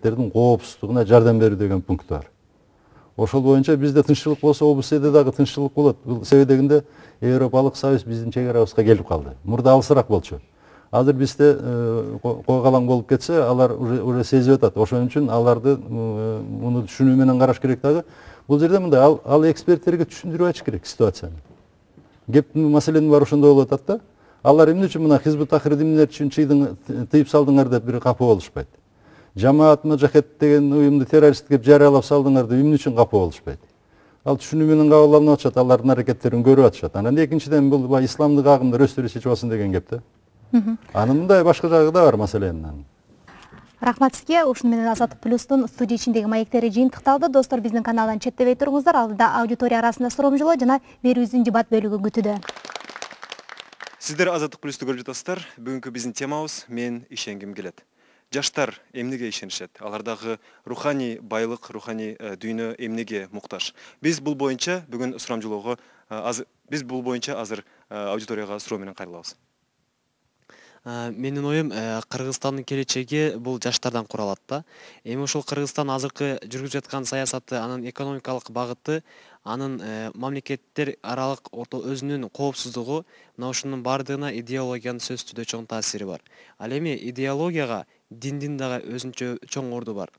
мамлекеттердин коопсуздугуна жардам берүү деген пункт бар. Ошол боюнча бизде тынччылык болсо, ОБСЕде дагы тынччылык болот. Бул себебегинде Европалык Союз биздин чек арабызга келип калды. Мурда алысыраак болчу. Азыр бизде койгалаң болуп кетсе, алар уже сезип атат. Ошон үчүн аларды муну түшүнүү менен караш керек дагы. Бул жерде мындай ал эксперттерге түшүндүрүп айтыш керек ситуацияны. Кептин маселенин баары ошондой болуп атат да. Алар эмне үчүн мына Хизбут Тахрир эмнелер үчүн тыйып салдыңар деп бир капа болушпайт. Жамаат Мужахед деген уюмду террорист деп жарыялап салдыңар деп эмне үчүн капа болушпайт. Ал түшүнүү менен кабыл алынып атышат, алардын аракеттерин көрүп атышат. Анан экинчиден бул исламдык агымдар өздөрү чечип алсын деген кеп да. Анын мындай башка жагы да бар маселенин. Рахмат сизге. Ушуну менен Азаттык плюстун студия ичиндеги маектери жыйынтыкталды. Достор, биздин каналдан четтебей туруңуздар. Алдыда аудитория арасында суромжолоо жана берүүбүздүн дебат бөлүгү күтүүдө. Сиздер Азаттык плюсту көрүп жатасыздар. Бүгүнкү биздин темабыз мен ишенгим келет. Жаштар эмнеге ишенишет? Алардагы руханий байлык, руханий дүйнө эмнеге муктаж? Биз бул боюнча азыр аудиторияга суроо менен кайрылабыз. Менин оюм, Кыргызстандын келечеги бул жаштардан куралат да. Эми ошол Кыргызстан азыркы жүргүзүп жаткан саясаты, анын экономикалык багыты, анын мамлекеттер аралык өзүнүн коопсуздугу, мына ушунун бардыгына идеологиянын сөзсүздө чоң таасири бар. Ал эми идеологияга диндин дагы өзүнчө чоң орду бар.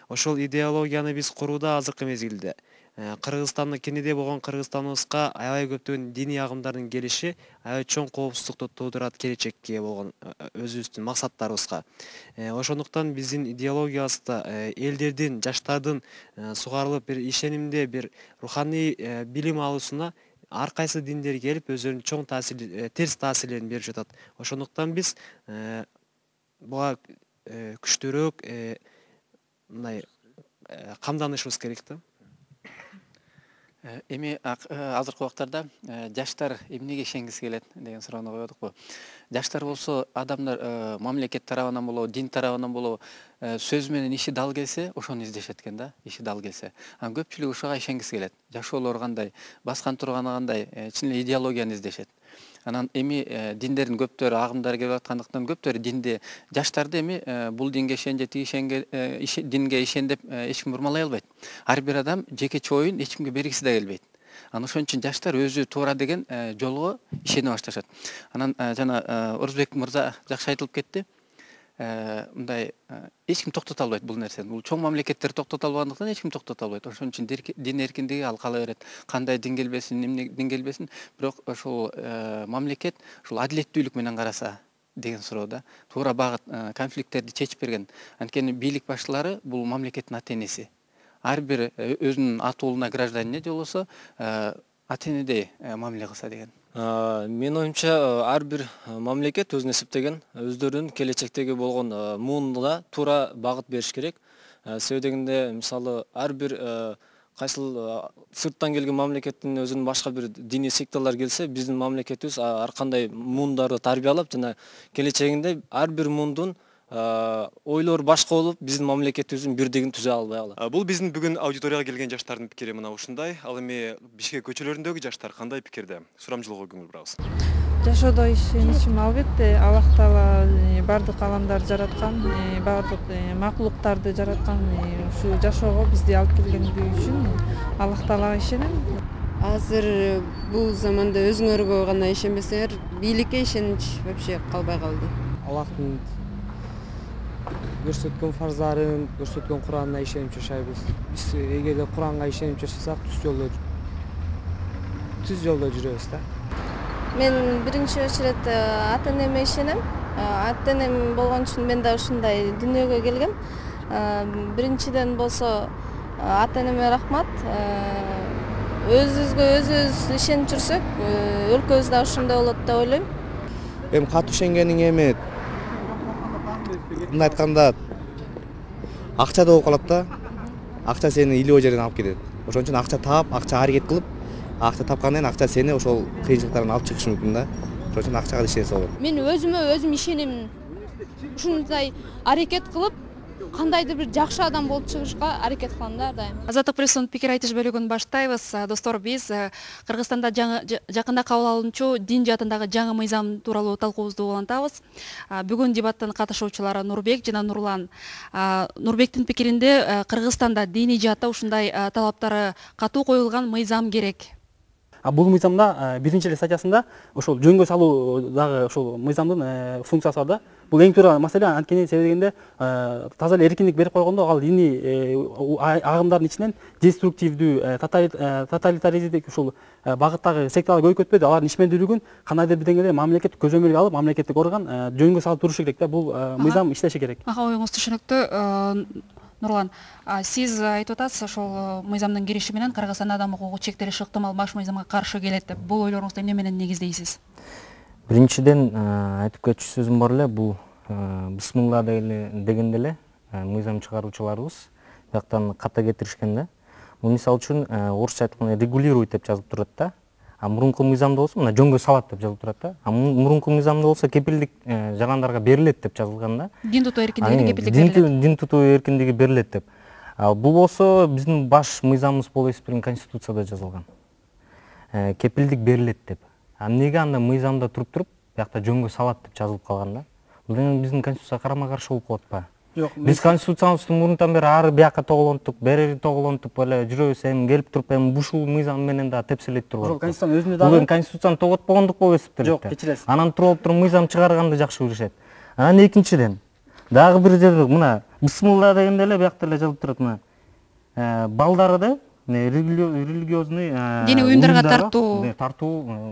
Ошол идеологияны биз курууда азыркы мезгилде Кыргызстандын кенеде болгон Кыргызстаныбызга аябай көптөгөн диний агымдардын келиши аябай чоң коопсуздукту туудурат келечекке болгон өзүбүздүн максаттарыбызга. Ошондуктан биздин идеологиябызда элдердин, жаштардын сугарылып бир ишенимде, бир руханий билим алуусуна ар кайсы диндер келип өздөрүнүн чоң терс таасирлерин берип жатат. Ошондуктан биз буга күчтүүрөөк мындай камданышыбыз керек да. Эми азыркы убактарда жаштар эмнеге ишенгиси келет деген суроону коёдукпу. Жаштар болсо адамдар мамлекет тарабынан болобу, дин тарабынан болобу сөз менен иши дал келсе, ошону издешет экен да, иши дал келсе. Анан көпчүлүк ушуга ишенгиси келет. Жашоолору кандай, баскан турганы кандай, чын эле идеологияны издешет. Анан эми диндердин көптөрү агымдар келип аткандыктан көптөрү динде жаштарды эми бул динге ишен же тиги динге ишен деп эч ким бурмалай албайт. Ар бир адам жеке чоюн эч кимге бергиси да келбейт. Анан ошон үчүн жаштар өзү туура деген жолго ишене башташат. Анан жана Орузбек мырза жакшы айтылып кетти. Мындай эч ким токтото албайт бул нерсени. Бул чоң мамлекеттер токтото албагандыктан эч ким токтото албайт. Ошон үчүн дин эркиндиги ал кала берет. Кандай дин келбесин, эмне дин келбесин, бирок ошол мамлекет ушул адилеттүүлүк менен караса деген суроо да. Туура багыт конфликттерди чечип берген. Анткени бийлик башчылары бул мамлекеттин ата-энеси. Ар бир өзүнүн ата уулуна гражданине же болбосо ата-энедей мамиле кылса деген. Менин оюмча ар бир мамлекет өзүнө эсептеген өздөрүнүн келечектеги болгон муунуна туура багыт бериш керек. Себеби дегенде мисалы ар бир кайсыл сырттан келген мамлекеттин өзүнүн башка бир диний секталар келсе, биздин мамлекетибиз ар кандай муундарды тарбиялап жана келечегинде ар бир муундун ойлор башка болуп, биздин мамлекетибиздин бирдигин түзө албай калат. Бул биздин бүгүн аудиторияга келген жаштардын пикири мына ушундай. Ал эми Бишкек көчөлөрүндөгү жаштар кандай пикирде? Сурамжылоого көңүл бурабыз. Жашоодо ишеничим албетте Аллах Таала бардык аламдарды жараткан, бардык макулуктарды жараткан, ушу жашоого бизди алып келгендиги үчүн Аллах Таалага ишенем. Азыр бул заманда өзүңөргө гана ишенбесеңер, бийликке ишенич вообще калбай калды. Аллахтын көрсөткөн фарздарын, көрсөткөн Куранына ишенип жашайбыз. Биз эгерде Куранга ишенип жашасак, түз жолдо жүрөбүз да. Мен биринчи очередь ата-энеме ишенем. Ата-энем болгон үчүн мен да ушундай дүйнөгө келгем. Биринчиден болсо ата-энеме рахмат. Өзүбүзгө өзүбүз ишенип жүрсөк, өлкөбүз да ошондой болот деп ойлойм. Эми катуу ишенгениң эми мындай айтканда акча да болуп калат да. Акча сени илөө жерден алып кетет. Ошон үчүн акча таап, акча аракет кылып, акча тапкандан кийин акча сени ошол кыйынчылыктардан алып чыгышы мүмкүн да. Ошон үчүн акчага ишенсе болот. Мен өзүмө өзүм ишенем. Ушундай аракет кылып, кандайдыр бир жакшы адам болуп чыгышка аракет кылам да ар дайым. Азаттык пресстин пикир айтыш бөлүгүн баштайбыз. Достор, биз Кыргызстанда жакында кабыл алынчу дин жаатындагы жаңы мыйзам тууралуу талкуубузду улантабыз. Бүгүн дебаттын катышуучулары Нурбек жана Нурлан. Нурбектин пикиринде Кыргызстанда диний жаатта ушундай талаптары катуу коюлган мыйзам керек. Бул мыйзамда биринчи эле статьясында ошол жөнгө салуу дагы ошол мыйзамдын функциясы бар да. Бул эң туура маселе, анткени себеби дегенде таза эле эркиндик берип койгондо ал диний агымдардын ичинен деструктивдүү, тоталитаризмдик ушул багыттагы секталар көбөйүп кетпеди. Алардын ишмердүүлүгүн кандайдыр бир деңгээлде мамлекет көзөмөлгө алып, мамлекеттик орган жөнгө салып турушу керек да. Бул мыйзам иштеши керек. Оюңуз түшүнүктүү. Нурлан, сиз айтып атасыз, ошол мыйзамдын кириши менен Кыргызстанда адам укугу чектелиши ыктымал баш мыйзамга каршы келет деп. Бул ойлоруңузду эмне менен негиздейсиз? Биринчиден айтып кетчү сөзүм бар эле, бул бисмилла дегенде эле мыйзам чыгаруучуларыбыз бияктан ката кетиришкен да. Бул мисалы үчүн орусча айтканда регулирует деп жазылып турат да. Мурунку мыйзамда болсо мына жөнгө салат деп жазылып турат да. Мурунку мыйзамда болсо кепилдик жарандарга берилет деп жазылган да. Дин тутуу эркиндигине кепилдик берилет. Дин тутуу эркиндиги берилет деп. Бул болсо биздин баш мыйзамыбыз болуп эсептелген Конституцияда жазылган. Кепилдик берилет деп. Эмнеге анда мыйзамда туруп биякта жөнгө салат деп жазылып калган да? Бул деген биздин Конституцияга карама-каршы болуп калат ба? Жок, биз Конституциябызды мурунтан бери ары бияка тоголонтуп, бери тоголонтуп эле жүрөбүз, эми келип туруп эми ушул мыйзам менен да тепселет турбайбы? Ошол Конституциянын өзүндө дагы бул Конституцияны тоготпогондук болуп эсептелет. Жок, кечиресиз. Анан туруп туруп мыйзам чыгарганды жакшы көрүшөт. Анан экинчиден дагы бир жерде мына бисмилла дегенде эле биякта эле жазылып турат мына. Балдары да религиозный диний уюмдарга тартуу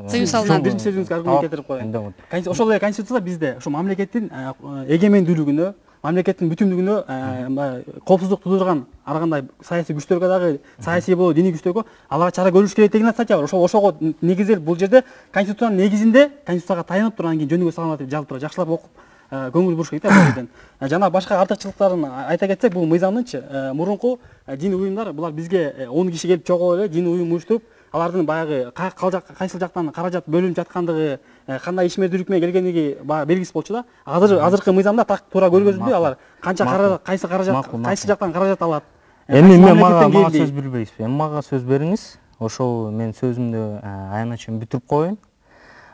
тыюу салынат. Биринчи сөзүңүзгө аргумент келтирип коеюн. Ошол эле Конституцияда бизде ошо мамлекеттин эгемендүүлүгүнө, мамлекеттин бүтүндүгүнө коопсуздук туудурган ар кандай саясий күчтөргө дагы, саясий болобу диний күчтөргө аларга чара көрүш керек деген статья бар. Ошого негизделип бул жерде Конституциянын негизинде Конституцияга таянып туруп анан кийин жөнүгө салынат деп жазылып турат. Жакшылап окуп көңүл буруш керек да бул жерден. Жана башка артыкчылыктарын айта кетсек, бул мыйзамдынчы мурунку дин уюмдар булар бизге 10 киши келип чогулуп эле дин уюм уюштуруп, алардын баягы кайсыл жактан каражат бөлүнүп жаткандыгы, кандай ишмердүүлүк менен келгендиги белгисиз болчу да. Азыркы мыйзамда так туура көргөзүлбөй, алар канча кайсы каражат, кайсы жактан каражат алат. Эми мен мага сөз бербейсизби? Эми мага сөз бериңиз. Ошол мен сөзүмдү аянтча чейин бүтүрүп коеюн.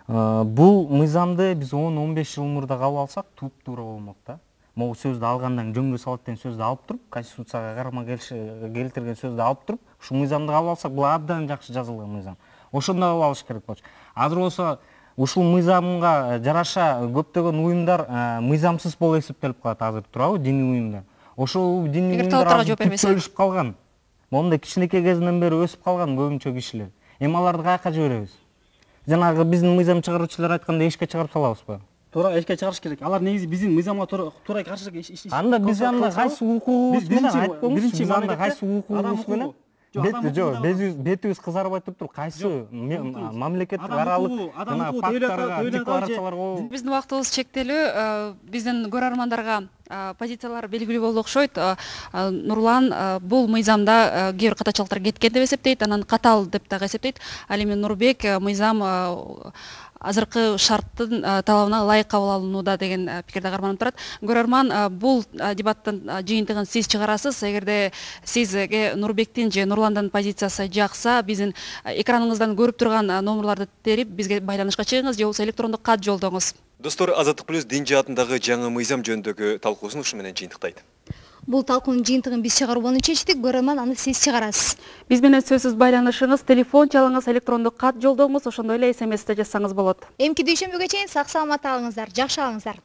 Бул мыйзамды биз 10-15 жыл мурда кабыл алсак, туура болмок да. Могу сөздү алгандан жөнгө салат деген сөздү алып туруп, Конституцияга карама келтирген сөздү алып туруп, ушул мыйзамды кабыл алсак, бул абдан жакшы жазылган мыйзам. Ошондой кабыл алыш керек болчу. Азыр болсо ушул мыйзамга жараша көптөгөн уюмдар мыйзамсыз болуп эсептелип калат азыр, туурабы, диний уюмдар. Ошол диний уюмдар бөлүшүп калган. Монда кичинекей кезинен бери өсүп калган көбүнчө кишилер. Эми аларды каяка жиберебиз? Жанагы биздин мыйзам чыгаруучулар айткандай эшикке чыгарып салабызбы? Туура эшикке чыгарыш керек. Алар негизи биздин мыйзамга туура каршы иштешет. Анда биз анда кайсы укугубуз менен айтпаңызчы, биз анда кайсы укугубуз менен бетибиз кызарбай туруп кайсы мамлекеттик аралык жана пакттарга, декларацияларга. Биздин убактыбыз чектелүү, биздин көрөрмандарга позициялар белгилүү болду окшойт. Нурлан бул мыйзамда кээ бир катачылыктар кеткен деп эсептейт, анан катал деп дагы эсептейт. Ал эми Нурбек мыйзам азыркы шарттын талабына ылайык кабыл алынууда деген пикирде карманып турат. Көрөрман, бул дебаттын жыйынтыгын сиз чыгарасыз. Эгерде сизге Нурбектин же Нурландын позициясы жакса, биздин экраныңыздан көрүп турган номерларды терип бизге байланышка чыгыңыз же болбосо электрондук кат жолдоңуз. Достор, Азаттык плюс дин жаатындагы жаңы мыйзам жөнүндөгү талкуусун ушу менен жыйынтыктайт. Бул талкуунун жыйынтыгын биз чыгарууну чечтик, көрөрман аны сиз чыгарасыз. Биз менен сөзсүз байланышыңыз, телефон чалыңыз, электрондук кат жолдоңуз, ошондой эле SMS-те жазсаңыз болот. Эмки дүйшөмбүгө чейин сак саламатта алыңыздар, жакшы алыңыздар.